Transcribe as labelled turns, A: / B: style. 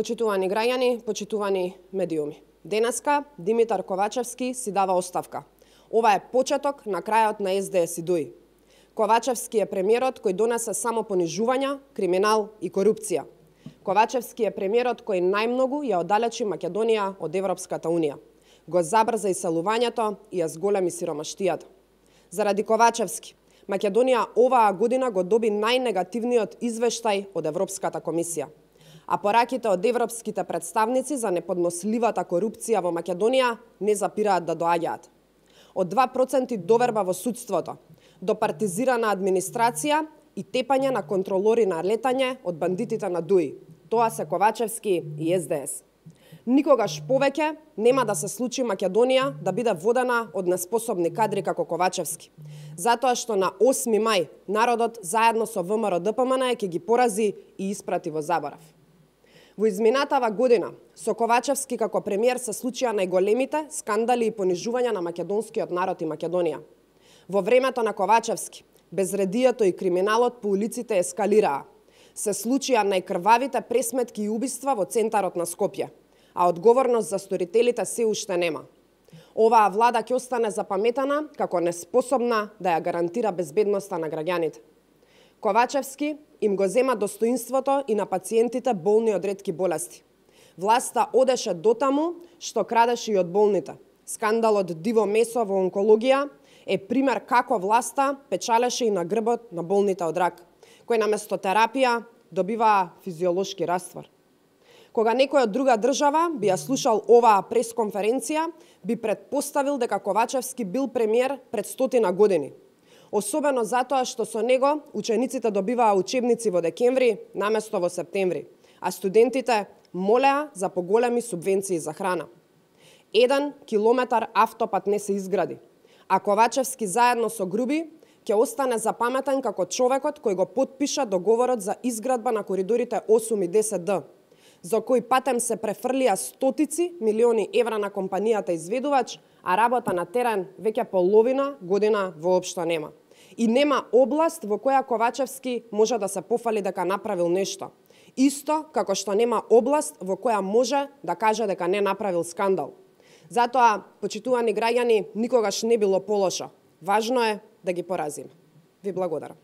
A: Почитувани граѓани, почитувани медиуми. Денеска Димитар Ковачевски си дава оставка. Ова е почеток на крајот на СДС и ДУИ. Ковачевски е премиерот кој донесе само понижувања, криминал и корупција. Ковачевски е премиерот кој најмногу ја оддалечи Македонија од Европската Унија. Го забрза иселувањето и ја зголеми сиромаштијата. Заради Ковачевски, Македонија оваа година го доби најнегативниот извештај од Европската комисија. А пораките од европските представници за неподносливата корупција во Македонија не запираат да доаѓаат. Од 2% доверба во судството, до партизирана администрација и тепање на контролори на летање од бандитите на ДУИ. Тоа се Ковачевски и СДС. Никогаш повеќе нема да се случи Македонија да биде водена од неспособни кадри како Ковачевски. Затоа што на 8 мај народот заедно со ВМРО-ДПМН ќе ги порази и испрати во заборав. Во изминатава година со Ковачевски како премиер се случија најголемите скандали и понижувања на македонскиот народ и Македонија. Во времето на Ковачевски, безредието и криминалот по улиците ескалираа. Се случија најкрвавите пресметки и убиства во центарот на Скопје, а одговорност за сторителите се уште нема. Оваа влада ќе остане запаметена како неспособна да ја гарантира безбедноста на граѓаните. Ковачевски им го зема достоинството и на пациентите болни од ретки болести. Власта одеше дотаму што крадеше и од болните. Скандалот диво месо во онкологија е пример како власта печалеше и на грбот на болните од рак, кои наместо терапија добиваа физиолошки раствор. Кога некој од друга држава би ја слушал оваа пресконференција, би предпоставил дека Ковачевски бил премиер пред 100 години. Особено затоа што со него учениците добиваа учебници во декември наместо во септември, а студентите молеа за поголеми субвенции за храна. 1 километар автопат не се изгради, а Ковачевски заедно со Груби ќе остане запаметен како човекот кој го потпиша договорот за изградба на коридорите 8 и 10D, за кој патем се префрлија стотици милиони евра на компанијата изведувач, а работа на терен веќе половина година воопшто нема. И нема област во која Ковачевски може да се пофали дека направил нешто. Исто како што нема област во која може да каже дека не направил скандал. Затоа, почитувани граѓани, никогаш не било полошо. Важно е да ги поразиме. Ви благодарам.